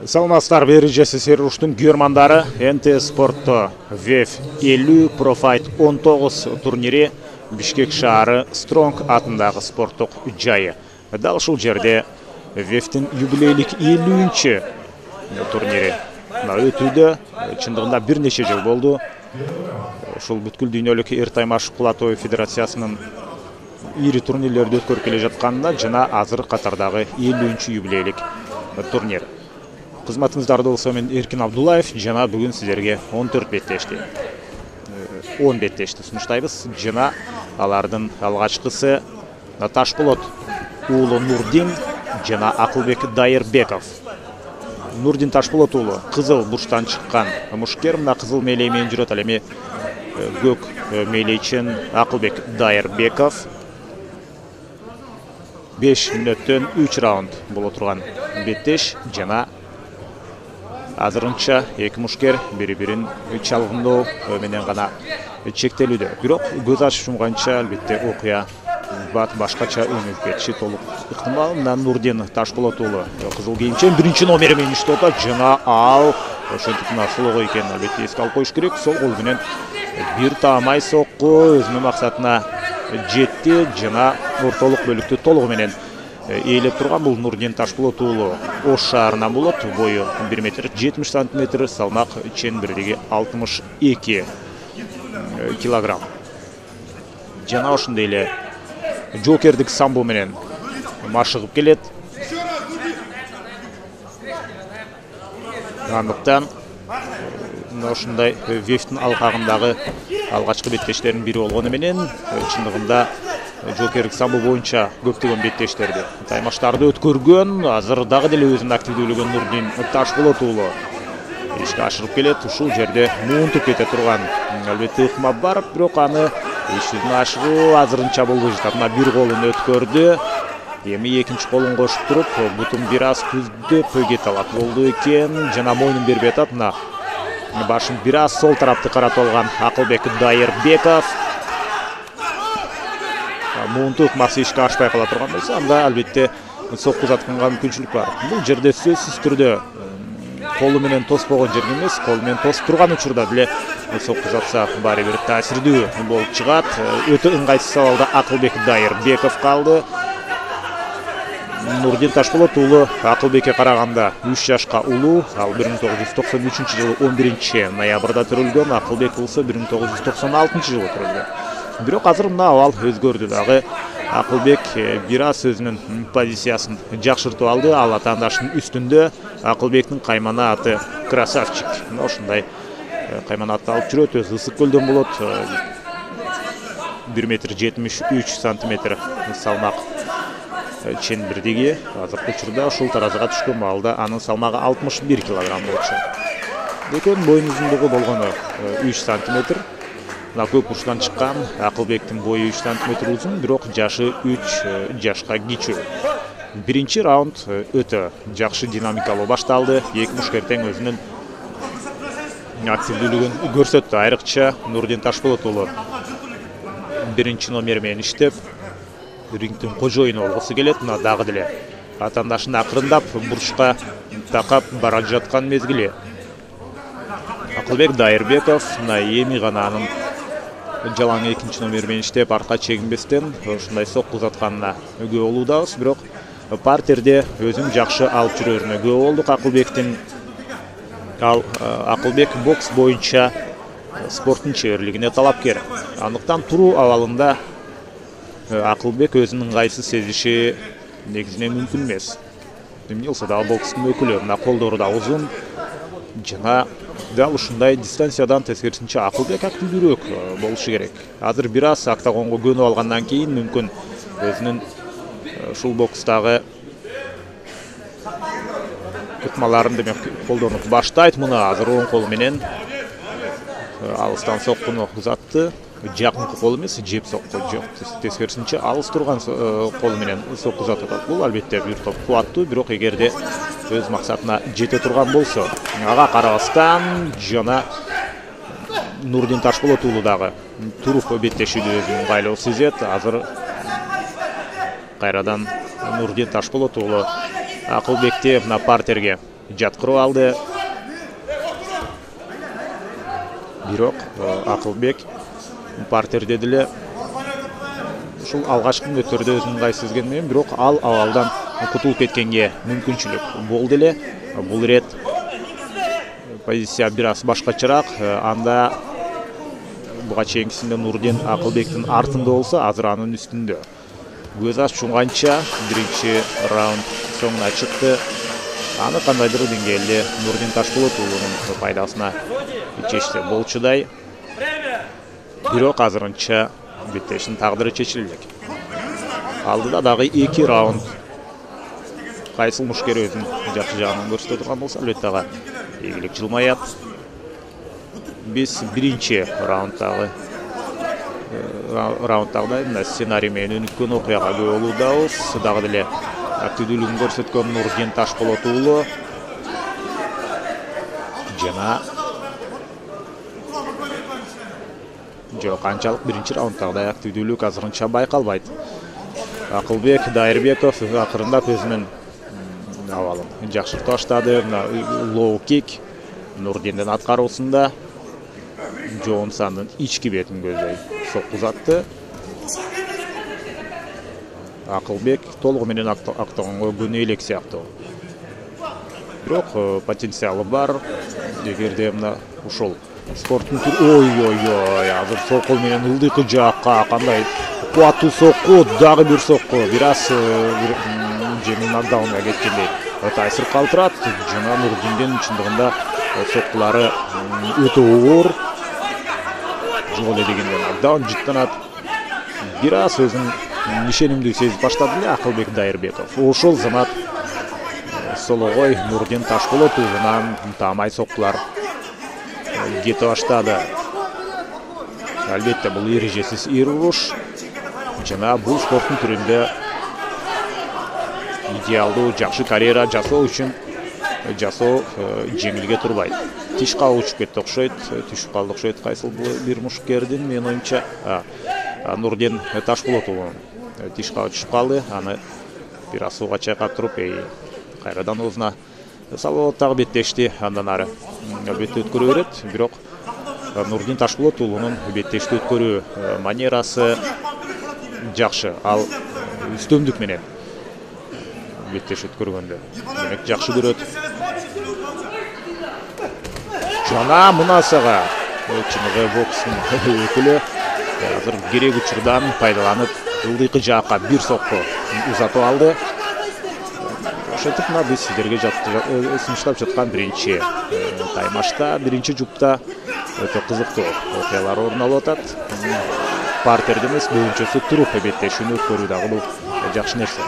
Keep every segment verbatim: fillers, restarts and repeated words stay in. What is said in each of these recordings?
Саламатсыздар, бери жеси Серуштун күйөрмандары. эн тэ спортто веф элүү Профайт он тогуз турнири Бишкек шаары Стронг атындагы спорттук жайы. Дал ушул жерде вефтин юбилейлик элүүнчү турнири өтүүдө. Чындыгында бир нече жыл болду. Ушул бүткүл дүйнөлүк Эртаймаш Кулатоев федерациясынын ири турнирлерди өткөрүп келе жатканында жана азыр катардагы элүүнчү юбилейлик турнир. Кызматыңыздарды болсо мен Эркин Абдуллаев жана бүгүн сиздерге он төрт беттешти он беттешти сунуштайбыз. Жана алардын алгачкысы Ташболот уулу Нурдин жана Акылбек Дайырбеков. Нурдин Ташболот уулу кызыл бурчтан чыккан мушкер, мына кызыл мээлей менен жүрөт. Ал эми көк мээлейчен Акылбек Дайырбеков беш мүнөттөн үч раунд боло турган беттеш жана азырынча эки мушкер бири-бирин чалгындоо менен гана чектелүүдө. Бирок көз ачып жумганча албетте окуя бат башкача өнүгүп кетиши толук ыктымал. Мына Нурдин Ташболот уулу кызыл кийимчен биринчи номери менен иштеп атат жана ал ошентип мына солого экенин албетте эске алып коюш керек. Сол кол менен бир таамай сокку өзүнүн максатына жетти жана ортолук бөлүктү толугу менен ээлеп турган бул Нурдин Ташболот уулу Ош шаарынан болот. Бою бир метр жетимиш сантиметр, салмак чен бирлиги алтымыш эки килограмм. Жана ошондой эле жокердик самбо менен машыгып келет. Андыктан ошондой вефтин алкагындагы алгачкы беттештердин бири болгону менен чындыгында жокердик самбо боюнча көптөгөн беттештерди таймаштарды өткөргөн. Азыр дагы деле өзүнүн активдүүлүгүн Нурдин Ташболот уулу ишке ашырып келет. Ушул жерде муунтуп кете турган албетте ыкма бар, бирок аны иш жүзүнө ашыруу азырынча болбой жатат. Мына бир колун өткөрдү. Эми экинчи колун кошуп туруп бутун бир аз күздөп кете алат болду экен. Жана мойнун бербей атат. Мына башын бир аз сол тарапты каратып алган Акылбек Дайырбеков. Муунту ыкмасы ишке ашпай кала турган болсо, анда албетте сокку узатканга мүмкүнчүлүк бар. Бул жерде сөзсүз түрдө колу менен тоспогон жерге эмес, колу менен тосуп турган учурда деле сокку узатса баары бир таасирдүү болуп чыгат. Өтө ыңгайсыз абалда Акылбек Дайырбеков калды. Нурдин Ташболот уулу Акылбекке караганда үч жашка улуу. Ал бир миң тогуз жүз токсон үчүнчү жылы он биринчи ноябрда төрөлгөн. Акылбек болсо бир миң тогуз жүз токсон алтынчы жылы төрөлгөн. Бирок азыр мына абал өзгөрдү дагы. Акылбек бир аз өзүнүн позициясын жакшыртып алды. Ал атаандаштын үстүндө. Акылбектин каймана аты Красавчик. Ошондой каймана атты алып жүрөт. Өзү ысык көлдөн болот. бир метр жетимиш үч сантиметр салмак чен бирлиги. Азыркы учурда ушул таразыга түшкөн маалда анын салмагы алтымыш бир килограмм болчу. Экөөнүн боюн узундугу болгону үч сантиметр. Мына көк бурчтан чыккан Акылбектин бою үч сантиметр узун, бирок жашы үч жашка кичүү. Биринчи раунд өтө жакшы динамикалуу башталды. Эки мушкер тең өзүнүн активдүүлүгүн көрсөттү. Айрыкча Нурдин Ташболот уулу биринчи номер менен иштеп рингдин кожоюну болгусу келет. Мына дагы деле атаандашын акырындап бурчка такап бара жаткан мезгили. Акылбек Дайырбеков мына эми гана анын жалаң экинчи номер менен иштеп арка чегинбестен ушундай сокку узатканына күбө болуудабыз. Бирок партерде өзүн жакшы алып жүрөрүнө күбө болдук Акылбектин. Ал Акылбек бокс боюнча спорттун чеберлигине талапкер. Андыктан туруу абалында Акылбек өзүнүн ыңгайсыз сезиши негизинен мүмкүн эмес. Эмне болсо дагы бокстун өкүлү. Мына колдору да узун жана дал ушундай дистанциядан тескерисинче Акылбек активдүүрөөк болушу керек. Азыр бир аз октагонго көнүп алгандан кийин мүмкүн өзүнүн ушул бокстагы ыкмаларын демек колдонуп баштайт. Мына азыр оң колу менен алыстан соккуну узатты. Жакынкы кол эмес, жеп сокку жок. Тескерисинче алыс турган колу менен сокку узатып атат. Бул албетте бир топ кубаттуу, бирок эгерде өз максатына жете турган болсо, ага карабастан жана Нурдин Ташболот уулу дагы туруп беттешүүдө өзүнүн ыңгайлуу сезет. Азыр кайрадан Нурдин Ташболот уулу Акылбекти мына партерге жаткырып алды. Бирок Акылбек партерде деле ушул алгачкы мүнөттөрдө өзүнүн ыңгай сезген менен, бирок ал абалдан кутулуп кеткенге мүмкүнчүлүк болду эле. Бул ирет позиция бир аз башкачараак. Анда буга чейинкисинде Нурдин Акылбектин артында болсо, азыр анын үстүндө. Көз ачуңганча биринчи раунд соңуна чыкты. Аны кандайдыр деңгээлде Нурдин Ташполот уулунун пайдасына чечсе болчудай. Бирок азырынча беттештин тагдыры чечилбек. Алдыда дагы эки раунд. Кайсыл мушкер өзүнүн жакшы жагын көрсөтө турган болсо, албетте ага ийгилик жылмаят. Биз биринчи раунддагы раунддагы мына сценарий менен өнүккөн окуяга күбө болуудабыз. Дагы деле активдүүлүгүн көрсөткөн Нурдин Ташполот уулу жана жок, канчалык биринчи раунддагыдай активдүүлүк азырынча байкалбайт. Акылбек Дайырбеков акырындап өзүнүн абалын жакшыртып баштады. Лоу кик Нурдиндин аткаруусунда жоон сандын ички бетин көздөй сокку узатты. Акылбек толугу менен актаганга көнө элек сыяктуу. Бирок потенциалы бар. Эгерде мына ушул спорттун түрү, ой-ой-ой, азыр сол кол менен ылдыйкы жаакка кандай кубаттуу сокку, дагы бир сокку, бир аз жеңил нокдаунга кеткендей таасир калтырат. Жана Нурдиндин чындыгында соккулары өтө оор. Жок эле дегенде нокдаун жыттанат. Бир аз өзүн ишенимдүү сезип баштады эле Акылбек Дайырбеков. Ошол замат сологой Нурдин Ташполот уулунан таамай соккулар кете баштады. Албетте бул эрежесиз эр уруш жана бул спорттун түрүндө идеалдуу жакшы карьера жасоо үчүн жасоо жеңилге турбайт. Тишка учуп кетти окшойт, түшүп калды окшойт кайсыл бир мушкердин, менин оюмча Нурдин Ташполот уулу тишка түшүп калды. Аны бир аз сууга чайкап туруп, кайрадан оозуна салып дагы беттешти. Андан ары албетте өткөрө берет. Бирок Нурдин Ташполот уулунун беттешти өткөрүү манерасы жакшы. Ал үстөмдүк менен беттеш өткөргөндө демек жакшы көрөт. Жана мунасага чыныгы бокстун өкүлү азыр керек учурдан пайдаланып ылдыйкы жаакка бир сокку узатып алды. Ошентип мына биз сиздерге сунуштап жаткан биринчи таймашта, биринчи жупта өтө кызыктуу окуялар орун алып атат. Партерде эмес, көбүнчөсү туруп беттешүүнү өткөрүү дагы бул жакшы нерсе.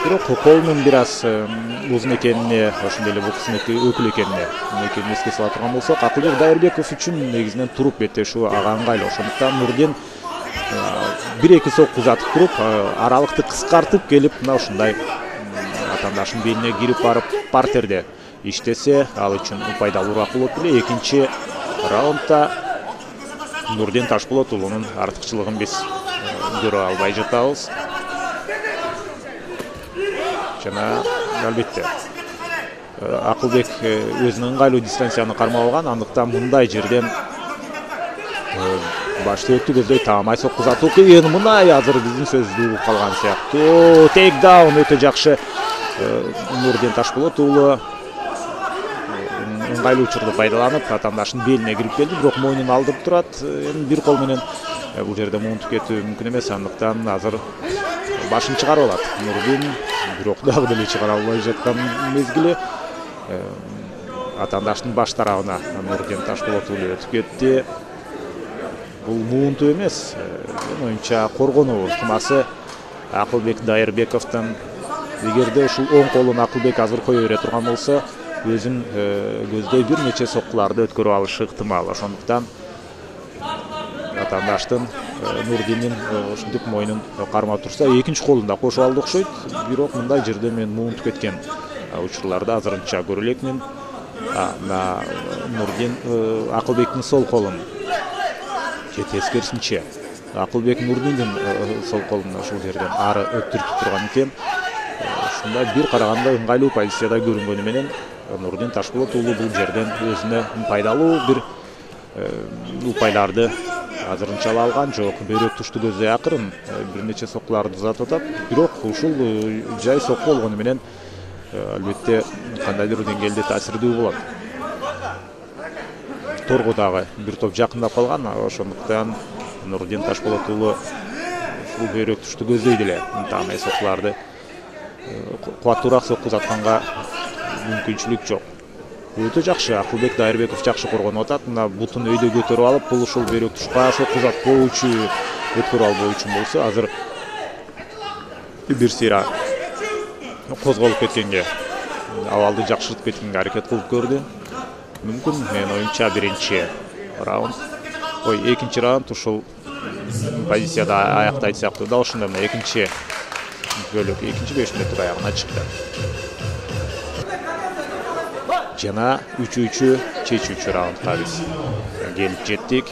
Бирок колунун бир аз узун экенине, ошондой эле бокстун өкүлү экенине экенин эске сала турган болсок, Акылбек Дайырбеков үчүн негизинен туруп беттешүү ага ыңгайлуу. Ошондуктан Нурдин бир-эки сокку узатып туруп, аралыкты кыскартып келип, мына ушундай атаандашынын белине кирип барып партерде иштесе, ал үчүн пайдалуураак болот эле. Экинчи раундда Нурдин Ташполот уулунун артыкчылыгын биз көрө албай жатабыз. Жана албетте Акылбек өзүнүн ыңгайлуу дистанцияны кармап алган, андыктан мындай жерден башты өттү көздөй таамай сокку узатуу кыйын. Мына азыр биздин сөздү угуп калган сыяктуу. Тейкдаун өтө жакшы. Нурдин Ташполот уулу ыңгайлуу учурду пайдаланып атаандашынын белине кирип келди, бирок мойнун алдырып турат. Эми бир кол менен бул жерде муунтуп кетүү мүмкүн эмес, андыктан азыр башын чыгарып алат Нурдин. Бирок дагы деле чыгара албай жаткан мезгили. Атаандашынын баш тарабына Нурдин Ташполот уулу өтүп кетти. Бул муунтуу эмес, менин оюмча коргонуу ылтымасы Акылбек Дайырбековдон. Эгерде ушул оң колун Акылбек азыр кое бере турган болсо, өзүн көздөй бир нече соккуларды өткөрүп алышы ыктымал. Ошондуктан атаандаштын Нурдиндин ушинтип мойнун кармап турса, экинчи колун да кошуп алды окшойт. Бирок мындай жерде мен муунтуп кеткен учурларды азырынча көрө элекмин. Нурдин Акылбектин сол колун же тескерисинче Акылбек Нурдиндин сол колун ушул жерден ары өттүрүп турган экен. Ушундай бир караганда ыңгайлуу позицияда көрүнгөнү менен Нурдин Ташпулат уулу бул жерден өзүнө пайдалуу бир упайларды азырынча ала алган жок. Бөйрөк тушту көздөй акырын бир нече соккуларды узатып атат. Бирок ушул жай сокку болгону менен албетте кандайдыр деңгээлде таасирдүү болот. Торго дагы бир топ жакындап калган, ошондуктан Нурдин Ташпулат уулу ушул бөйрөк тушту көздөйдү эле. Ынтамай соккуларды кубаттуураак сокку узатканга мүмкүнчүлүк жок. Өтө жакшы, Акылбек Дайырбеков жакшы коргонуп атат. Мына бутун өйдө көтөрүп алып, бул ушул бөйрөк тушка сокку узатпоочу, өткөрүп албоо үчүн болсо, азыр бир сыйра козголуп кеткенге, абалды жакшыртып кеткенге аракет кылып көрдү. Мүмкүн менин оюмча биринчи раунд, ой, экинчи раунд ушул позицияда аяктайт сыяктуу. Дал ушундай мына экинчи бөлүк, экинчи беш мүнөттүк аягына чыкты. Жана үчүнчү чечүүчү раундга биз келип жеттик.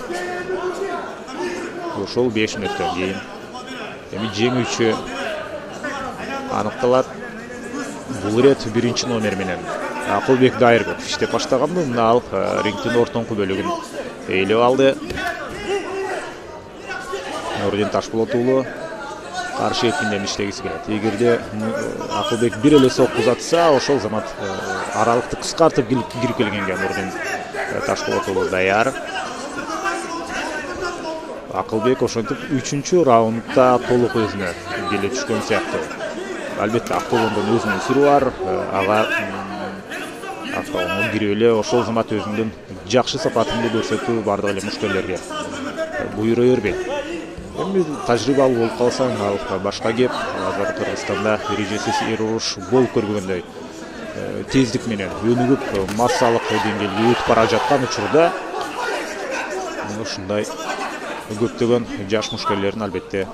Ошол беш мүнөттөн кийин эми жеңүүчү аныкталат. Бул ирет биринчи номер менен Акылбек Дайырбеков иштеп баштаганбы, мына ал рингдин ортоңку бөлүгүн ээлеп алды. Нурдин Ташпулат уулу каршы эпинден иштегиси келет. Эгерде Акылбек бир эле сокку узатса, ошол замат аралыкты кыскартып кирип келгенге Нурдин Ташпулат уулу даяр. Акылбек ошентип үчүнчү раундда толук өзүнө келе түшкөн сыяктуу. Албетте автоундун өзүнүн сыры бар. Ага автоунун кирип эле ошол замат өзүнүн жакшы сапатынды көрсөтүү бардык эле мушкерлерге буйруа бербейт. Эми тажрыйбалуу болуп калсаң, ал башка кеп. Азыр Кыргызстанда эрежесиз эр уруш болуп көргөндөй тездик менен өнүгүп, массалык деңгээлге өтүп бара жаткан учурда ушундай көптөгөн жаш мушкерлердин албетте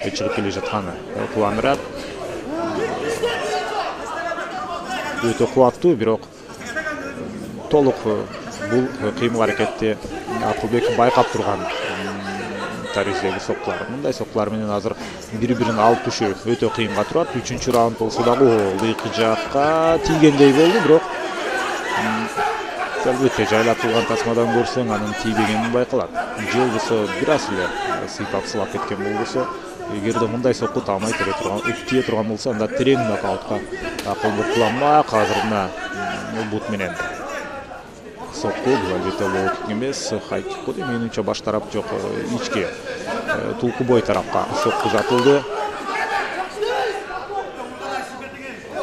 чыгып келе жатканы кубандырат. Өтө кубаттуу, бирок толук бул кыймыл аракетти Акылбек байкап турган тарихтеги соккулар. Мындай соккулар менен азыр бири-бирин алып түшүү өтө кыйынга турат. Үчүнчү раунд болсо дагы ыйкы жакка тийгендей болду, бирок албетте жайлап турган тасмадан көрсөң анын тийбегени байкалат. Же болбосо бир аз эле сыйпап сылап кеткен болбосо, эгерде мындай сокку таамай тере турган, тие турган болсо, анда терең нокаутка Акылбек куланмак. Азыр мына бут менен сокку бул албетте лоу-кик эмес, хай-кик болду. Менимче баш тарап жок, ички тулку бой тарапка сокку узатылды.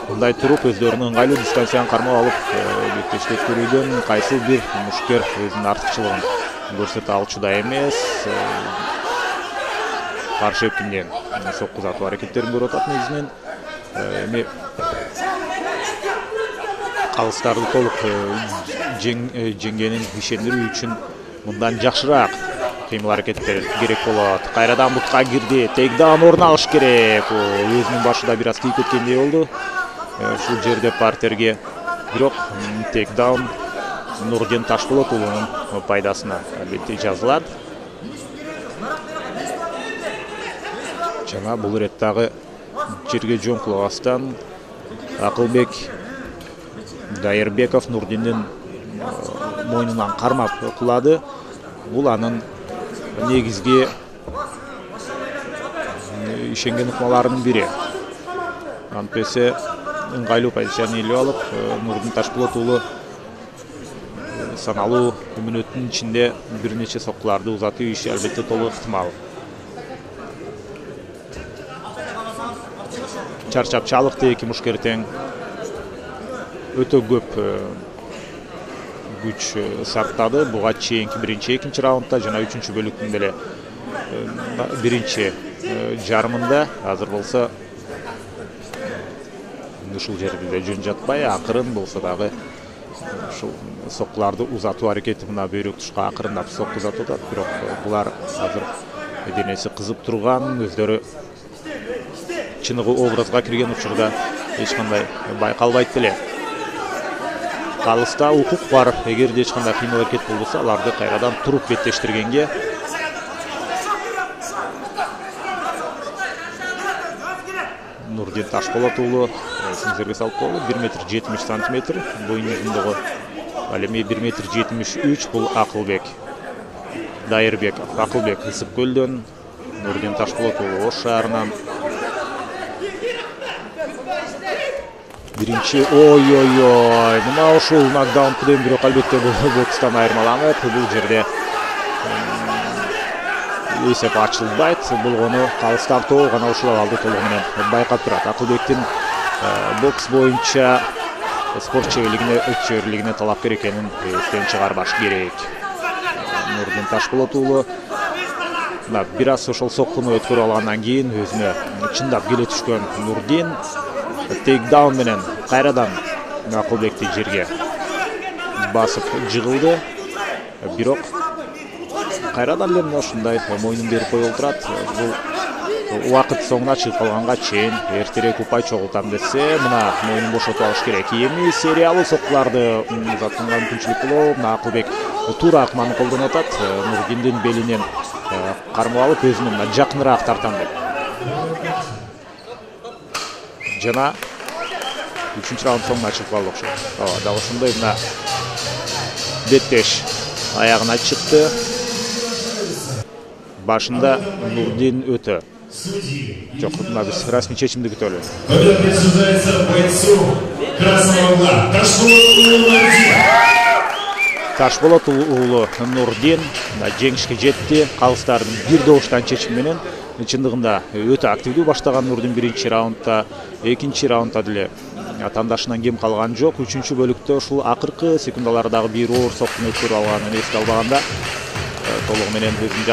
Мындай туруп өздөрүнүн ыңгайлуу дистанцияны кармап алып, беттештеп көрүүдөн кайсы бир мушкер өзүнүн артыкчылыгын көрсөтө алчуда эмес. Каршы эпинден сокку узатуу аракеттерин көрүп атат негизинен. Эми калыстарды толук жеңгенин ишендирүү үчүн мындан жакшыраак кыймыл аракеттер керек болот. Кайрадан бутка кирди, тейкдаун орун алыш керек. Өзүнүн башында бир аз тийип кеткендей болду ушул жерде партерге. Бирок тейкдаун Нурдин Ташпулат уулунун пайдасына албетте жазылат. Жана бул ирет дагы жерге жоңкулабастан Акылбек Дайырбеков Нурдиндин мойнунан кармап кулады. Бул анын негизги ишенген ыкмаларынын бири. Антпесе ыңгайлуу позицияны ээлеп алып, Нурдин Ташпулат уулу саналуу мүнөттүн ичинде бир нече соккуларды узатуу иши албетте толук ыктымал. Чарчап чалыкты эки мушкер тең. Өтө көп күч сарптады буга чейинки биринчи, экинчи раундда жана үчүнчү бөлүктүн деле биринчи жарымында. Азыр болсо ушул жерде жөн жатпай, акырын болсо дагы ушул соккуларды узатуу аракети мына бөйрөк тушка акырындап сокку узатып атат. Бирок булар азыр денеси кызып турган, өздөрү чыныгы образга кирген учурда эч кандай байкалбайт деле. Калыста укук бар. Эгерде эч кандай кыймыл аракет болбосо, аларды кайрадан туруп беттештиргенге Нурдин Ташболот уулу сиңдерге салып коелу. бир метр жетимиш сантиметр боюн узундугу. Ал эми бир метр жетимиш үч бул Акылбек Дайырбеков. Акылбек Ысык көлдөн, Нурдин Ташболот уулу Ош шаарынан. Биринчи ой-ой-ой, мына ушул нокдаун менен бирок албетте бул бокстан айырмаланып, бул жерде эсеп ачылбайт. Болгону калыс тартоо гана ушул абалды толугу менен байкап турат. Акылбектин бокс боюнча спорт чеберлигине, чеберлигине талапкер экенин эстен чыгарбаш керек. Нурдин Ташболот уулу бир аз ошол соккуну өткөрүп алгандан кийин өзүнө чындап келе түшкөн Нурдин тейкдаун менен кайрадан Акылбекти жерге басып жыгылды. Бирок кайрадан эле ушундай мойнун берип коюп турат. Бул убакыт соңуна чыгып калганга чейин эртерээк упай чогултам десе, мына мойнун бошотуп алыш керек. Эми сериялуу соккуларды узатууга мүмкүнчүлүк болобу. Мына Акылбек туура акманы колдонуп атат. Нурдиндин белинен кармап алып өзүнө жакыныраак тартам деп. Жана үчүнчү раунд соңуна чыгып калды окшойт. Ооба, дагы ошондой мына беттеш аягына чыкты. Башында Нурдин өтө. Жок, мына биз расмий чечимди күтөлү. Присуждается бойцу красного угла Ташболот уулу Нурдин жеңишке жетти. Калыстардын бир добуштан чечим менен. Чындыгында өтө активдүү баштаган Нурдин биринчи раундда, экинчи раундда деле тандашынан кем калган жок. Үчүнчү бөлүктө ушул акыркы секундалардагы бир оор соккуну өткөрүп алганын эске албаганда толугу менен өзүн